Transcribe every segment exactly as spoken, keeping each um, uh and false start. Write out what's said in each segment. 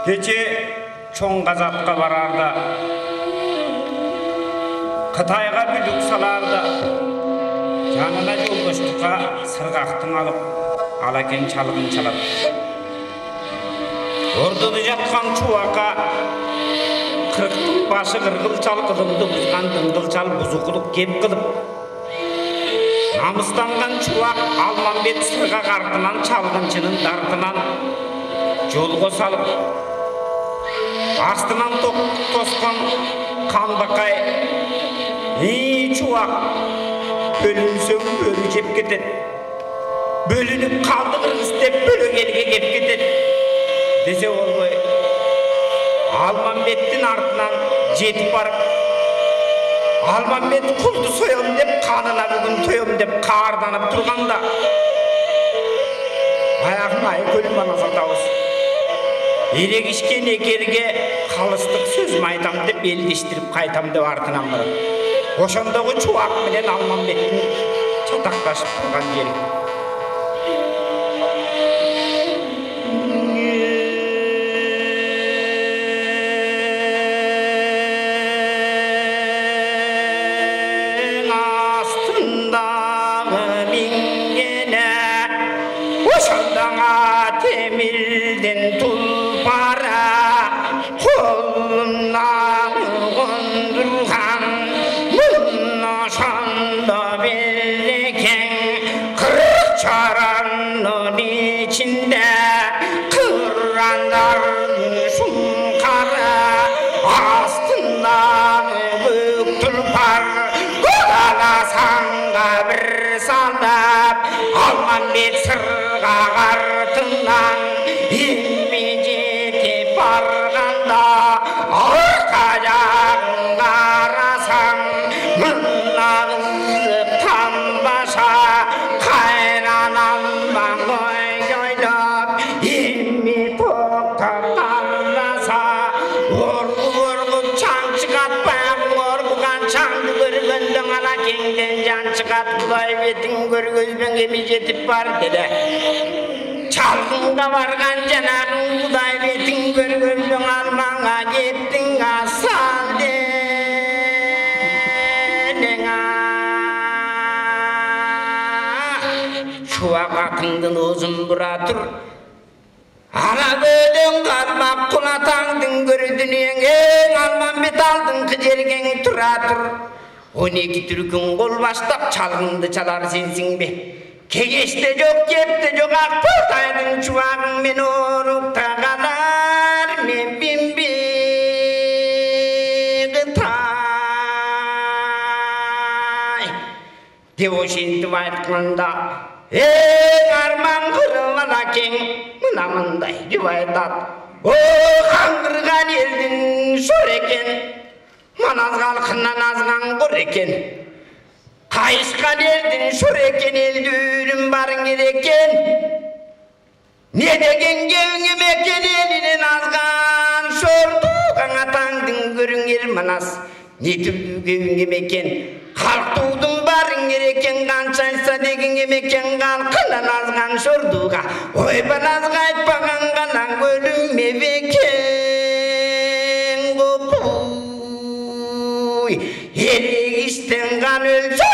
Кече чоң казакка барарда, Кытайга бүлүк саларда, жанына жолдоштукка сыргактың алып, алакен чалгын чалат. Ордода жаткан чубакка кырктын башы кыргыл чал кылымды бузган дыңгыл чал бузукулук кеп кылып, намыстанган чубак Алмамбет сыргак артынан чалгынчынын дартынан жолго салып, астынан ток тоскон Канбакай, ей чубак, бөлүнсөң бөлү жеп кетет, бөлүнүп калды кыргыз деп бөлөк элге кеп кетет десе болбой, Алмамбеттин артынан жетип барып, Алмамбет кулду соем деп, канына бүгүн тоем деп каарданып турганда, баягы Айкөл манасатабыз эрегишкен экерге калыстык сөзүм айтам деп элдештирип кайтам деп артынан барат. Ошондогу чубак менен Алмамбеттин чатакташып турган жери. Temilden tulpara kolumdan kondurgan bunna şanda bereken kırık çaranın içinde kıranlar şunkara astından büyük tulpar kodalasan da bir salap Almambet sırgak артынан илми жетип барганда орта жагын карасаң мына кыздыктан баша кайнанам баңой ойлоп илми токтоп калбаса оргуп оргуп чаң чыгат баягы оргуган чаңды көргөндө ана кеңден жан чыгат Кудай бетиң көргөзбөң эми жетип бар деди. Çalgında vargan canarın Kuday betin görgöndün almana gittin asal dedin Şuak akındın uzun buradır Ana bödün kalmak kulatandın gördün en Almambet aldın kıcergen turadır on iki türkün kol başlap çalgındı çalar sensin be Kegeçte yok, kepte yok, akpırtaydın çuvağın men orukta kadar men bimbi gıtay. De o şimdi aytkanda, ey arman kırılan ken, mına mınday rivaydat. O kandırgan eldin şor eken, manaz kalkından azgan kur eken. Kayışkan eldin şur eken eldürüm barın eken Ne degen gevngim eken elinin azgan şordugan atandın görün el manas Ne türlü gevngim eken Kalktudun barın eken kançaysa degen eken kalkınan azgan şorduga Oy banaz kaytpagan kanan gölüm eveken Gopuy Erigisten kan ölsün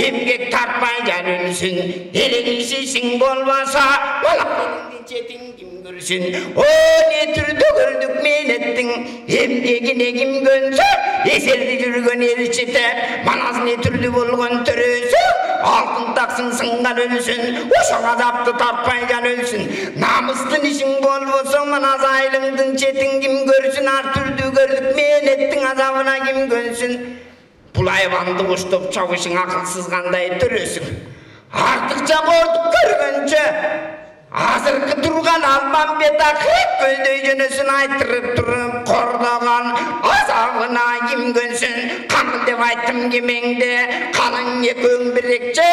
Emgek tartmaycan ölsün Erigişisin bolmasa Malaklarının çetin kim görsün O ne türlü gördük men ettin Emgekine kim gönsün Eserdi жүргөн elçite Manaz ne türlü bolgon törösü Altın taksın sıngan ölsün Oşan azaptı tartmaycan ölsün Namıstın işin bolbosa Manaz aylındın çetin kim görsün Ar türlü gördük men ettin Azabına kim gönsün Bul hayvandı koştup çavuşun akılsız kanday törösün. Artıkça korduk görgönce, azırkı durgan Almambet akırıp köldöy jönösün aytırıp durup kordogan azabına kim gönsün. Kanıl dep ayttım kemengde, kalın ekön birekçe,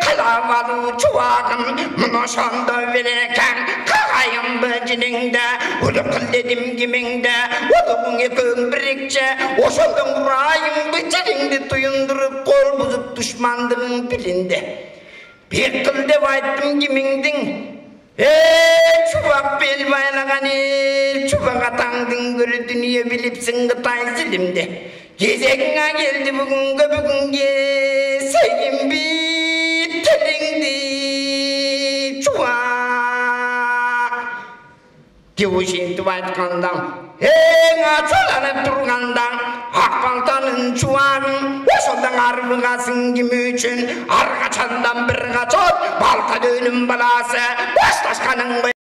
kalavalı çuvagın, mına şonda vereken, kakayın böcününgde, ulu kıl dedim kemengde, ulu ekön birekçe, oşoldun vurayın böcününgde tuyundurup kol buzup düşmandığın bilinde. Bir kıl dep ayttım kemengdin, ey çubak bel baylagan el чубага таңдың көрү дүние билипсиң Кытай зилимде кезегиңе келди бүгүнгө бүгүнгө сегинби тилиңди чубак деп ушинтип айтканда эң ачууланып турганда ак балтанын чубагын ошондон арбыга сиңгим үчүн ар качандан бир качан балта дөөнүн баласы башташканын